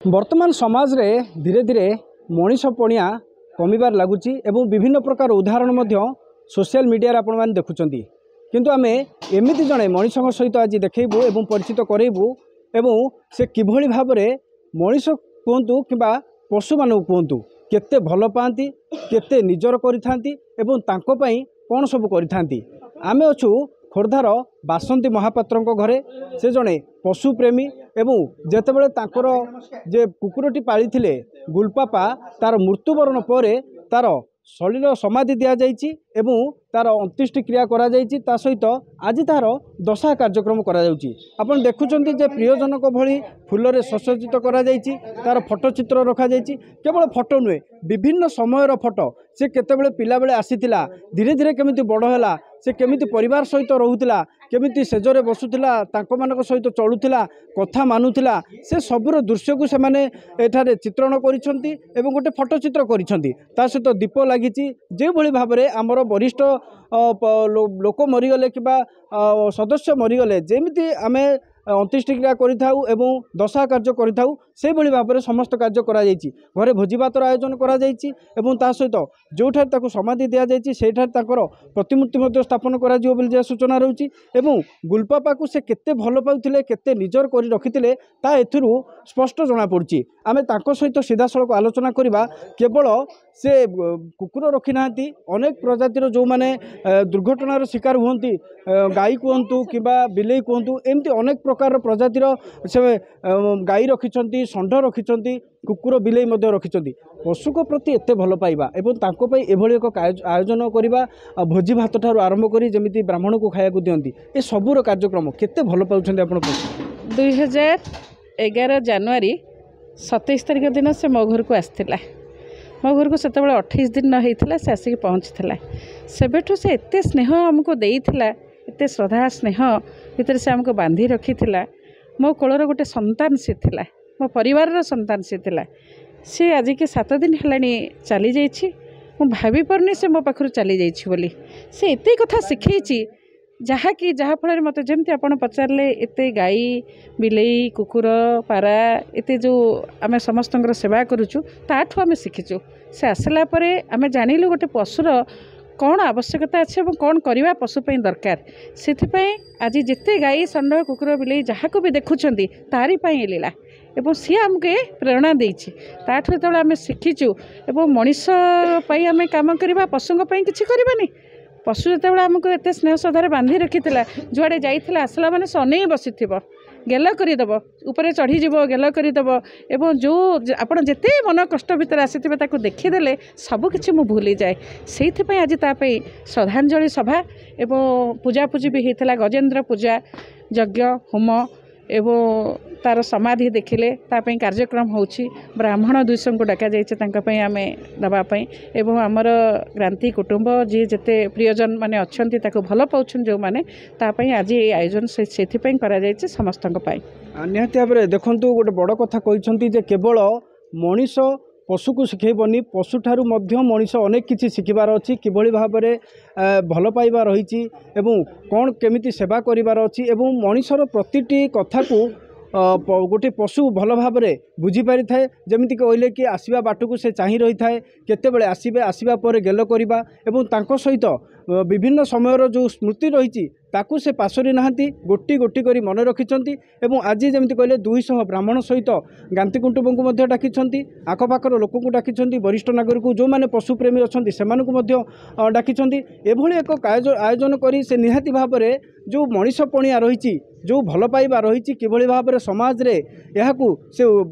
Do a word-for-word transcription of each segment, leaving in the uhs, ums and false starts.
ବର୍ତ୍ତମାନ ସମାଜରେ ଧୀରେ ଧୀରେ ମଣିଷ ପଣିଆ କମିବାରେ ଲାଗୁଛି ଏବଂ ବିଭିନ୍ନ ପ୍ରକାର ଉଦାହରଣ ମଧ୍ୟ ସୋସିଆଲ ମିଡ଼ିଆରେ ଆପଣମାନେ ଦେଖୁଛନ୍ତି। କିନ୍ତୁ ଆମେ ଏମିତି ଜଣେ ମଣିଷଙ୍କ ସହିତ ଆଜି ଦେଖେଇବୁ ଏବଂ ପରିଚିତ କରେଇବୁ ଏବଂ ସେ କିଭଳି ଭାବରେ ମଣିଷ କୁହନ୍ତୁ କିମ୍ବା ପଶୁମାନଙ୍କୁ କୁହନ୍ତୁ, କେତେ ଭଲ ପାଆନ୍ତି, କେତେ ନିଜର କରିଥାନ୍ତି ଏବଂ ତାଙ୍କ ପାଇଁ କ'ଣ ସବୁ କରିଥାନ୍ତି। ଆମେ ଅଛୁ ଖୋର୍ଦ୍ଧାର ବାସନ୍ତୀ ମହାପାତ୍ରଙ୍କ ଘରେ। ସେ ଜଣେ ପଶୁପ୍ରେମୀ ଏବଂ ଯେତେବେଳେ ତାଙ୍କର ଯେ କୁକୁରଟି ପାଳିଥିଲେ ଗୁଲପାପା, ତାର ମୃତ୍ୟୁବରଣ ପରେ ତାର ସଲିଳ ସମାଧି ଦିଆଯାଇଛି ଏବଂ ତାର ଅନ୍ତ୍ୟେଷ୍ଟି କ୍ରିୟା କରାଯାଇଛି। ତା ସହିତ ଆଜି ତାହାର ଦଶାହ କାର୍ଯ୍ୟକ୍ରମ କରାଯାଉଛି। ଆପଣ ଦେଖୁଛନ୍ତି ଯେ ପ୍ରିୟଜନଙ୍କ ଭଳି ଫୁଲରେ ସୁସଜ୍ଜିତ କରାଯାଇଛି, ତାର ଫଟୋଚିତ୍ର ରଖାଯାଇଛି। କେବଳ ଫଟୋ ନୁହେଁ, ବିଭିନ୍ନ ସମୟର ଫଟୋ, ସେ କେତେବେଳେ ପିଲାବେଳେ ଆସିଥିଲା, ଧୀରେ ଧୀରେ କେମିତି ବଡ଼ ହେଲା, ସେ କେମିତି ପରିବାର ସହିତ ରହୁଥିଲା, କେମିତି ସେଜରେ ବସୁଥିଲା, ତାଙ୍କମାନଙ୍କ ସହିତ ଚଳୁଥିଲା, କଥା ମାନୁଥିଲା, ସେ ସବୁର ଦୃଶ୍ୟକୁ ସେମାନେ ଏଠାରେ ଚିତ୍ରଣ କରିଛନ୍ତି ଏବଂ ଗୋଟେ ଫଟୋଚିତ୍ର କରିଛନ୍ତି। ତା ସହିତ ଦୀପ ଲାଗିଛି। ଯେଉଁଭଳି ଭାବରେ ଆମର ବରିଷ୍ଠ ଲୋକ ମରିଗଲେ କିମ୍ବା ସଦସ୍ୟ ମରିଗଲେ ଯେମିତି ଆମେ ଅନ୍ତ୍ୟେଷ୍ଟିକ୍ରିୟା କରିଥାଉ ଏବଂ ଦଶାହ କାର୍ଯ୍ୟ କରିଥାଉ, ସେଇଭଳି ଭାବରେ ସମସ୍ତ କାର୍ଯ୍ୟ କରାଯାଇଛି। ଘରେ ଭୋଜିଭାତର ଆୟୋଜନ କରାଯାଇଛି ଏବଂ ତା ସହିତ ଯେଉଁଠାରେ ତାକୁ ସମାଧି ଦିଆଯାଇଛି, ସେଇଠାରେ ତାଙ୍କର ପ୍ରତିମୂର୍ତ୍ତି ମଧ୍ୟ ସ୍ଥାପନ କରାଯିବ ବୋଲି ଯାହା ସୂଚନା ରହୁଛି। ଏବଂ ଗୁଲପାପାକୁ ସେ କେତେ ଭଲ ପାଉଥିଲେ, କେତେ ନିଜର କରି ରଖିଥିଲେ, ତା ଏଥିରୁ ସ୍ପଷ୍ଟ ଜଣାପଡ଼ୁଛି। ଆମେ ତାଙ୍କ ସହିତ ସିଧାସଳଖ ଆଲୋଚନା କରିବା। କେବଳ ସେ କୁକୁର ରଖିନାହାନ୍ତି, ଅନେକ ପ୍ରଜାତିର ଯେଉଁମାନେ ଦୁର୍ଘଟଣାର ଶିକାର ହୁଅନ୍ତି, ଗାଈ କୁହନ୍ତୁ କିମ୍ବା ବିଲେଇ କୁହନ୍ତୁ, ଏମିତି ଅନେକ ପ୍ରକାରର ପ୍ରଜାତିର ସେ ଗାଈ ରଖିଛନ୍ତି, ଷଣ୍ଢ ରଖିଛନ୍ତି, କୁକୁର ବିଲେଇ ମଧ୍ୟ ରଖିଛନ୍ତି। ପଶୁଙ୍କ ପ୍ରତି ଏତେ ଭଲ ପାଇବା ଏବଂ ତାଙ୍କ ପାଇଁ ଏଭଳି ଏକ ଆୟୋଜନ କରିବା, ଭୋଜି ଭାତ ଠାରୁ ଆରମ୍ଭ କରି ଯେମିତି ବ୍ରାହ୍ମଣକୁ ଖାଇବାକୁ ଦିଅନ୍ତି, ଏ ସବୁର କାର୍ଯ୍ୟକ୍ରମ, କେତେ ଭଲ ପାଉଛନ୍ତି ଆପଣ ପଶୁ? ଦୁଇ ହଜାର ଏଗାର ଜାନୁଆରୀ ସତେଇଶ ତାରିଖ ଦିନ ସେ ମୋ ଘରକୁ ଆସିଥିଲା। ମୋ ଘରକୁ ସେତେବେଳେ ଅଠେଇଶ ଦିନ ହେଇଥିଲା ସେ ଆସିକି ପହଞ୍ଚିଥିଲା। ସେବେଠୁ ସେ ଏତେ ସ୍ନେହ ଆମକୁ ଦେଇଥିଲା, ଏତେ ଶ୍ରଦ୍ଧା ସ୍ନେହ ଭିତରେ ସେ ଆମକୁ ବାନ୍ଧି ରଖିଥିଲା। ମୋ କୋଳର ଗୋଟେ ସନ୍ତାନ ସେ ଥିଲା, ମୋ ପରିବାରର ସନ୍ତାନ ସେ ଥିଲା। ସେ ଆଜିକି ସାତ ଦିନ ହେଲାଣି ଚାଲିଯାଇଛି। ମୁଁ ଭାବିପାରୁନି ସେ ମୋ ପାଖରୁ ଚାଲିଯାଇଛି ବୋଲି। ସେ ଏତେ କଥା ଶିଖେଇଛି ଯାହାକି ଯାହାଫଳରେ ମୋତେ, ଯେମିତି ଆପଣ ପଚାରିଲେ, ଏତେ ଗାଈ ବିଲେଇ କୁକୁର ପାରା ଏତେ ଯେଉଁ ଆମେ ସମସ୍ତଙ୍କର ସେବା କରୁଛୁ, ତାଠୁ ଆମେ ଶିଖିଛୁ। ସେ ଆସିଲା ପରେ ଆମେ ଜାଣିଲୁ ଗୋଟେ ପଶୁର କ'ଣ ଆବଶ୍ୟକତା ଅଛି ଏବଂ କ'ଣ କରିବା ପଶୁ ପାଇଁ ଦରକାର। ସେଥିପାଇଁ ଆଜି ଯେତେ ଗାଈ ଷଣ୍ଢ କୁକୁର ବିଲେଇ ଯାହାକୁ ବି ଦେଖୁଛନ୍ତି, ତାରି ପାଇଁ ଏ ଲୀଳା ଏବଂ ସିଏ ଆମକୁ ଏ ପ୍ରେରଣା ଦେଇଛି। ତାଠୁ ଯେତେବେଳେ ଆମେ ଶିଖିଛୁ ଏବଂ ମଣିଷ ପାଇଁ ଆମେ କାମ କରିବା, ପଶୁଙ୍କ ପାଇଁ କିଛି କରିବାନି? ପଶୁ ଯେତେବେଳେ ଆମକୁ ଏତେ ସ୍ନେହ ଶ୍ରଦ୍ଧାରେ ବାନ୍ଧି ରଖିଥିଲା, ଯୁଆଡ଼େ ଯାଇଥିଲା ଆସିଲା ମାନେ ସେ ଅନେଇ ବସିଥିବ, ଗେଲ କରିଦେବ, ଉପରେ ଚଢ଼ିଯିବ, ଗେଲ କରିଦେବ। ଏବଂ ଯେଉଁ ଆପଣ ଯେତେ ମନ କଷ୍ଟ ଭିତରେ ଆସିଥିବେ, ତାକୁ ଦେଖିଦେଲେ ସବୁକିଛି ମୁଁ ଭୁଲିଯାଏ। ସେଇଥିପାଇଁ ଆଜି ତା ପାଇଁ ଶ୍ରଦ୍ଧାଞ୍ଜଳି ସଭା ଏବଂ ପୂଜାପୂଜି ବି ହେଇଥିଲା, ଗଜେନ୍ଦ୍ର ପୂଜା, ଯଜ୍ଞ ହୋମ ଏବଂ ତା'ର ସମାଧି ଦେଖିଲେ ତା ପାଇଁ କାର୍ଯ୍ୟକ୍ରମ ହେଉଛି। ବ୍ରାହ୍ମଣ ଦୁଇଶହଙ୍କୁ ଡକାଯାଇଛି ତାଙ୍କ ପାଇଁ ଆମେ ଦେବା ପାଇଁ ଏବଂ ଆମର ଗ୍ରାନ୍ତି କୁଟୁମ୍ବ ଯିଏ ଯେତେ ପ୍ରିୟଜନ ମାନେ ଅଛନ୍ତି, ତାକୁ ଭଲ ପାଉଛନ୍ତି ଯେଉଁମାନେ, ତା ପାଇଁ ଆଜି ଏଇ ଆୟୋଜନ ସେଥିପାଇଁ କରାଯାଇଛି ସମସ୍ତଙ୍କ ପାଇଁ। ନିହାତି ଭାବରେ ଦେଖନ୍ତୁ, ଗୋଟେ ବଡ଼ କଥା କହିଛନ୍ତି ଯେ କେବଳ ମଣିଷ ପଶୁକୁ ଶିଖେଇବନି, ପଶୁଠାରୁ ମଧ୍ୟ ମଣିଷ ଅନେକ କିଛି ଶିଖିବାର ଅଛି। କିଭଳି ଭାବରେ ଭଲ ପାଇବା ରହିଛି ଏବଂ କ'ଣ କେମିତି ସେବା କରିବାର ଅଛି ଏବଂ ମଣିଷର ପ୍ରତିଟି କଥାକୁ ଗୋଟିଏ ପଶୁ ଭଲ ଭାବରେ ବୁଝିପାରିଥାଏ। ଯେମିତି କହିଲେ କି ଆସିବା ବାଟକୁ ସେ ଚାହିଁ ରହିଥାଏ, କେତେବେଳେ ଆସିବେ, ଆସିବା ପରେ ଗେଲ କରିବା ଏବଂ ତାଙ୍କ ସହିତ ବିଭିନ୍ନ ସମୟର ଯେଉଁ ସ୍ମୃତି ରହିଛି ତାକୁ ସେ ପାଶୋରି ନାହାନ୍ତି, ଗୋଟି ଗୋଟି କରି ମନେ ରଖିଛନ୍ତି। ଏବଂ ଆଜି ଯେମିତି କହିଲେ ଦୁଇଶହ ବ୍ରାହ୍ମଣ ସହିତ ଗାନ୍ତି କୁଟୁମ୍ବଙ୍କୁ ମଧ୍ୟ ଡାକିଛନ୍ତି, ଆଖପାଖର ଲୋକଙ୍କୁ ଡାକିଛନ୍ତି, ବରିଷ୍ଠ ନାଗରିକ ଯେଉଁମାନେ ପଶୁପ୍ରେମୀ ଅଛନ୍ତି ସେମାନଙ୍କୁ ମଧ୍ୟ ଡାକିଛନ୍ତି। ଏଭଳି ଏକ ଆୟୋଜନ କରି ସେ ନିହାତି ଭାବରେ ଯେଉଁ ମଣିଷ ପଣିଆ ରହିଛି, ଯେଉଁ ଭଲ ପାଇବା ରହିଛି, କିଭଳି ଭାବରେ ସମାଜରେ ଏହାକୁ ସେ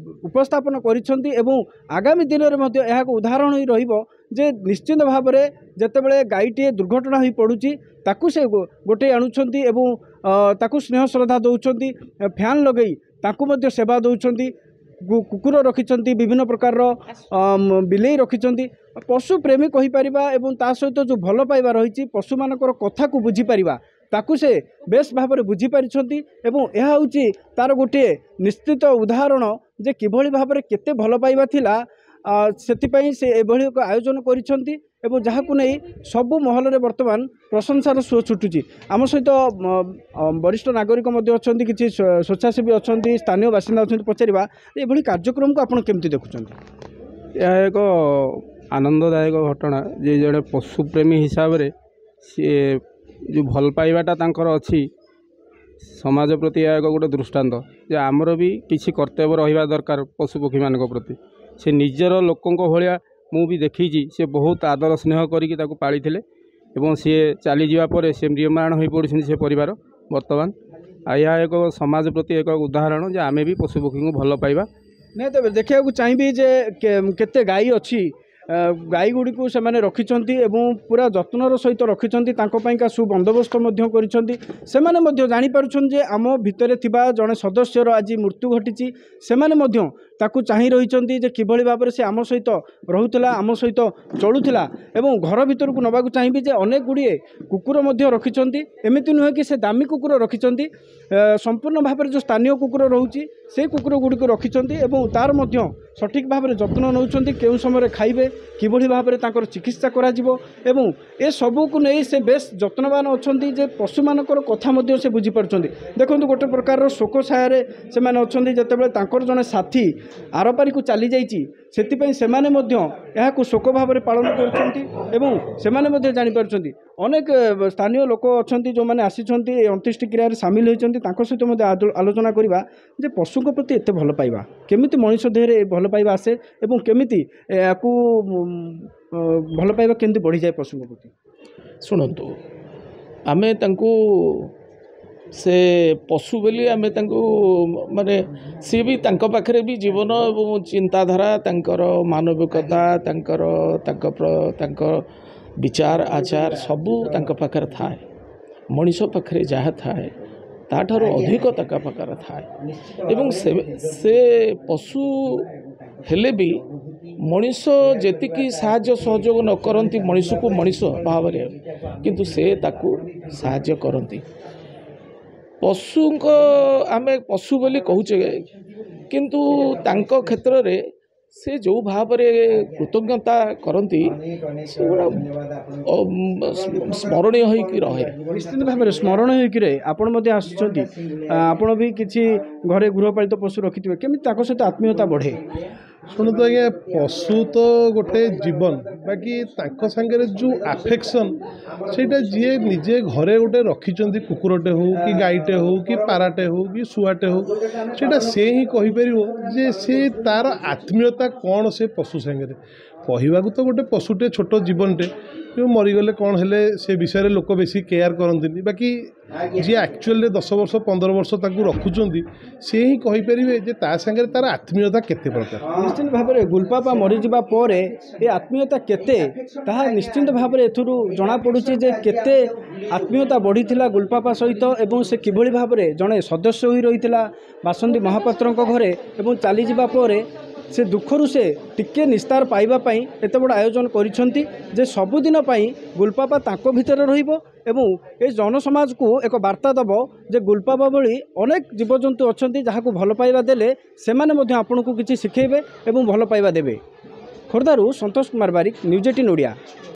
ଉପସ୍ଥାପନ କରିଛନ୍ତି ଏବଂ ଆଗାମୀ ଦିନରେ ମଧ୍ୟ ଏହାକୁ ଉଦାହରଣ ହୋଇ ରହିବ ଯେ ନିଶ୍ଚିତ ଭାବରେ ଯେତେବେଳେ ଗାଈଟିଏ ଦୁର୍ଘଟଣା ହୋଇ ପଡ଼ୁଛି, ତାକୁ ସେ ଗୋଟେଇ ଆଣୁଛନ୍ତି ଏବଂ ତାକୁ ସ୍ନେହ ଶ୍ରଦ୍ଧା ଦେଉଛନ୍ତି, ଫ୍ୟାନ୍ ଲଗେଇ ତାଙ୍କୁ ମଧ୍ୟ ସେବା ଦେଉଛନ୍ତି। କୁକୁର ରଖିଛନ୍ତି, ବିଭିନ୍ନ ପ୍ରକାରର ବିଲେଇ ରଖିଛନ୍ତି, ପଶୁପ୍ରେମୀ କହିପାରିବା ଏବଂ ତା ସହିତ ଯେଉଁ ଭଲ ପାଇବା ରହିଛି, ପଶୁମାନଙ୍କର କଥାକୁ ବୁଝିପାରିବା, ତାକୁ ସେ ବେଶ ଭାବରେ ବୁଝିପାରିଛନ୍ତି। ଏବଂ ଏହା ହେଉଛି ତା'ର ଗୋଟିଏ ନିଶ୍ଚିତ ଉଦାହରଣ ଯେ କିଭଳି ଭାବରେ କେତେ ଭଲ ପାଇବା ଥିଲା, ସେଥିପାଇଁ ସେ ଏଭଳି ଏକ ଆୟୋଜନ କରିଛନ୍ତି। ଏବଂ ଯାହାକୁ ନେଇ ସବୁ ମହଲରେ ବର୍ତ୍ତମାନ ପ୍ରଶଂସାର ସୁଅ ଛୁଟୁଛି। ଆମ ସହିତ ମ, ଅ, ବରିଷ୍ଠ ନାଗରିକ ମଧ୍ୟ ଅଛନ୍ତି, କିଛି ସ୍ୱ- ସ୍ୱେଚ୍ଛାସେବୀ ଅଛନ୍ତି, ସ୍ଥାନୀୟ ବାସିନ୍ଦା ଅଛନ୍ତି। ପଚାରିବା, ଏଭଳି କାର୍ଯ୍ୟକ୍ରମକୁ ଆପଣ କେମିତି ଦେଖୁଛନ୍ତି? ଏହା ଏକ ଆନନ୍ଦଦାୟକ ଘଟଣା ଯେ ଜଣେ ପଶୁପ୍ରେମୀ ହିସାବରେ ସିଏ ଯେଉଁ ଭଲ ପାଇବାଟା ତାଙ୍କର ଅଛି ସମାଜ ପ୍ରତି, ଏହା ଏକ ଗୋଟେ ଦୃଷ୍ଟାନ୍ତ ଯେ ଆମର ବି କିଛି କର୍ତ୍ତବ୍ୟ ରହିବା ଦରକାର ପଶୁପକ୍ଷୀମାନଙ୍କ ପ୍ରତି। ସେ ନିଜର ଲୋକଙ୍କ ଭଳିଆ, ମୁଁ ବି ଦେଖିଛି, ସେ ବହୁତ ଆଦର ସ୍ନେହ କରିକି ତାକୁ ପାଳିଥିଲେ ଏବଂ ସିଏ ଚାଲିଯିବା ପରେ ସେ ମ୍ରିୟମାଣ ହୋଇପଡ଼ିଛନ୍ତି ସେ ପରିବାର ବର୍ତ୍ତମାନ। ଆଉ ଏହା ଏକ ସମାଜ ପ୍ରତି ଏକ ଉଦାହରଣ ଯେ ଆମେ ବି ପଶୁପକ୍ଷୀଙ୍କୁ ଭଲ ପାଇବା। ନିହାତି ଭାବରେ ଦେଖିବାକୁ ଚାହିଁବି ଯେ କେ- କେତେ ଗାଈ ଅଛି। ଅ, ଗାଈ ଗୁଡ଼ିକୁ ସେମାନେ ରଖିଛନ୍ତି ଏବଂ ପୁରା ଯତ୍ନର ସହିତ ରଖିଛନ୍ତି। ତାଙ୍କ ପାଇଁକା ସୁବନ୍ଦୋବସ୍ତ ମଧ୍ୟ କରିଛନ୍ତି। ସେମାନେ ମଧ୍ୟ ଜାଣିପାରୁଛନ୍ତି ଯେ ଆମ ଭିତରେ ଥିବା ଜଣେ ସଦସ୍ୟର ଆଜି ମୃତ୍ୟୁ ଘଟିଛି। ସେମାନେ ମଧ୍ୟ ତାକୁ ଚାହିଁ ରହିଛନ୍ତି ଯେ କିଭଳି ଭାବରେ ସେ ଆମ ସହିତ ରହୁଥିଲା, ଆମ ସହିତ ଚଳୁଥିଲା। ଏବଂ ଘର ଭିତରକୁ ନେବାକୁ ଚାହିଁବି ଯେ ଅନେକ ଗୁଡ଼ିଏ କୁକୁର ମଧ୍ୟ ରଖିଛନ୍ତି। ଏମିତି ନୁହେଁ କି ସେ ଦାମୀ କୁକୁର ରଖିଛନ୍ତି। ଏ, ସମ୍ପୂର୍ଣ୍ଣ ଭାବରେ ଯେଉଁ ସ୍ଥାନୀୟ କୁକୁର ରହୁଛି, ସେଇ କୁକୁର ଗୁଡ଼ିକୁ ରଖିଛନ୍ତି ଏବଂ ତାର ମଧ୍ୟ ସଠିକ୍ ଭାବରେ ଯତ୍ନ ନେଉଛନ୍ତି। କେଉଁ ସମୟରେ ଖାଇବେ, କିଭଳି ଭାବରେ ତାଙ୍କର ଚିକିତ୍ସା କରାଯିବ ଏବଂ ଏସବୁକୁ ନେଇ ସେ ବେଶ ଯତ୍ନବାନ ଅଛନ୍ତି ଯେ ପଶୁମାନଙ୍କର କଥା ମଧ୍ୟ ସେ ବୁଝିପାରୁଛନ୍ତି। ଦେଖନ୍ତୁ, ଗୋଟେ ପ୍ରକାରର ଶୋକ ଛାୟାରେ ସେମାନେ ଅଛନ୍ତି ଯେତେବେଳେ ତାଙ୍କର ଜଣେ ସାଥୀ ଆରପାରିକୁ ଚାଲିଯାଇଛି। ସେଥିପାଇଁ ସେମାନେ ମଧ୍ୟ ଏହାକୁ ଶୋକ ଭାବରେ ପାଳନ କରୁଛନ୍ତି ଏବଂ ସେମାନେ ମଧ୍ୟ ଜାଣିପାରୁଛନ୍ତି। ଅନେକ ଏ, ସ୍ଥାନୀୟ ଲୋକ ଅଛନ୍ତି ଯେଉଁମାନେ ଆସିଛନ୍ତି, ଏ ଅନ୍ତ୍ୟେଷ୍ଟିକ୍ରିୟାରେ ସାମିଲ ହୋଇଛନ୍ତି। ତାଙ୍କ ସହିତ ମଧ୍ୟ ଆଲୋ- ଆଲୋଚନା କରିବା ଯେ ପଶୁଙ୍କ ପ୍ରତି ଏତେ ଭଲ ପାଇବା କେମିତି ମଣିଷ ଦେହରେ ଏ ଭଲ ପାଇବା ଆସେ ଏବଂ କେମିତି ଏହାକୁ ଉମ୍, ଅ, ଭଲ ପାଇବା କେମିତି ବଢ଼ିଯାଏ ପଶୁଙ୍କ ପ୍ରତି। ଶୁଣନ୍ତୁ, ଆମେ ତାଙ୍କୁ ସେ ପଶୁ ବୋଲି ଆମେ ତାଙ୍କୁ ମାନେ ସିଏ ବି ତାଙ୍କ ପାଖରେ ବି ଜୀବନ ଏବଂ ଚିନ୍ତାଧାରା, ତାଙ୍କର ମାନବିକତା, ତାଙ୍କର ତାଙ୍କ ପ୍ର- ତାଙ୍କ ବିଚାର ଆଚାର ସବୁ ତାଙ୍କ ପାଖରେ ଥାଏ। ମଣିଷ ପାଖରେ ଯାହା ଥାଏ, ତାଠାରୁ ଅଧିକ ତାଙ୍କ ପାଖରେ ଥାଏ। ଏବଂ ସେ ସେ ପଶୁ ହେଲେ ବି ମଣିଷ ଯେତିକି ସାହାଯ୍ୟ ସହଯୋଗ ନ କରନ୍ତି ମଣିଷକୁ ମଣିଷ ଭାବରେ, କିନ୍ତୁ ସେ ତାକୁ ସାହାଯ୍ୟ କରନ୍ତି। ପଶୁଙ୍କ ଆମେ ପଶୁ ବୋଲି କହୁଛେ, କିନ୍ତୁ ତାଙ୍କ କ୍ଷେତ୍ରରେ ସେ ଯେଉଁ ଭାବରେ କୃତଜ୍ଞତା କରନ୍ତି, ସେଗୁଡ଼ା ଅ, ସ୍ମରଣୀୟ ହୋଇକି ରହେ। ନିଶ୍ଚିତ ଭାବରେ ସ୍ମରଣ ହୋଇକି ରହେ। ଆପଣ ମଧ୍ୟ ଆସୁଛନ୍ତି, ଆ, ଆପଣ ବି କିଛି ଘରେ ଗୃହପାଳିତ ପଶୁ ରଖିଥିବେ। କେମିତି ତାଙ୍କ ସହିତ ଆତ୍ମୀୟତା ବଢ଼େ? ଶୁଣନ୍ତୁ ଆଜ୍ଞା, ପଶୁ ତ ଗୋଟେ ଜୀବନ, ବାକି ତାଙ୍କ ସାଙ୍ଗରେ ଯେଉଁ ଆଫେକ୍ସନ୍, ସେଇଟା ଯିଏ ନିଜେ ଘରେ ଗୋଟେ ରଖିଛନ୍ତି, କୁକୁରଟେ ହଉ କି ଗାଈଟେ ହଉ କି ପାରାଟେ ହଉ କି ଶୁଆଟେ ହଉ, ସେଇଟା ସେ ହିଁ କହିପାରିବ ଯେ ସେ ତାର ଆତ୍ମୀୟତା କ'ଣ ସେ ପଶୁ ସାଙ୍ଗରେ। କହିବାକୁ ତ ଗୋଟେ ପଶୁଟେ, ଛୋଟ ଜୀବନଟେ, ଯେଉଁ ମରିଗଲେ କ'ଣ ହେଲେ ସେ ବିଷୟରେ ଲୋକ ବେଶୀ କେୟାର କରନ୍ତିନି। ବାକି ଯିଏ ଆକ୍ଚୁଆଲିରେ ଦଶ ବର୍ଷ ପନ୍ଦର ବର୍ଷ ତାକୁ ରଖୁଛନ୍ତି, ସେ ହିଁ କହିପାରିବେ ଯେ ତା ସାଙ୍ଗରେ ତାର ଆତ୍ମୀୟତା କେତେ ପ୍ରକାର। ନିଶ୍ଚିତ ଭାବରେ ଗୁଲପାପା ମରିଯିବା ପରେ ଏ ଆତ୍ମୀୟତା କେତେ, ତାହା ନିଶ୍ଚିନ୍ତ ଭାବରେ ଏଥିରୁ ଜଣାପଡ଼ୁଛି ଯେ କେତେ ଆତ୍ମୀୟତା ବଢ଼ିଥିଲା ଗୁଲପାପା ସହିତ ଏବଂ ସେ କିଭଳି ଭାବରେ ଜଣେ ସଦସ୍ୟ ହୋଇ ରହିଥିଲା ବାସନ୍ତୀ ମହାପାତ୍ରଙ୍କ ଘରେ। ଏବଂ ଚାଲିଯିବା ପରେ ସେ ଦୁଃଖରୁ ସେ ଟିକେ ନିସ୍ତାର ପାଇବା ପାଇଁ ଏତେ ବଡ଼ ଆୟୋଜନ କରିଛନ୍ତି ଯେ ସବୁଦିନ ପାଇଁ ଗୁଲପାପା ତାଙ୍କ ଭିତରେ ରହିବ ଏବଂ ଏ ଜନସମାଜକୁ ଏକ ବାର୍ତ୍ତା ଦେବ ଯେ ଗୁଲପାପା ଭଳି ଅନେକ ଜୀବଜନ୍ତୁ ଅଛନ୍ତି, ଯାହାକୁ ଭଲ ପାଇବା ଦେଲେ ସେମାନେ ମଧ୍ୟ ଆପଣଙ୍କୁ କିଛି ଶିଖେଇବେ ଏବଂ ଭଲ ପାଇବା ଦେବେ। ଖୋର୍ଦ୍ଧାରୁ ସନ୍ତୋଷ କୁମାର ବାରିକ, ନ୍ୟୁଜ୍ ଏଇଟିନ୍ ଓଡ଼ିଆ।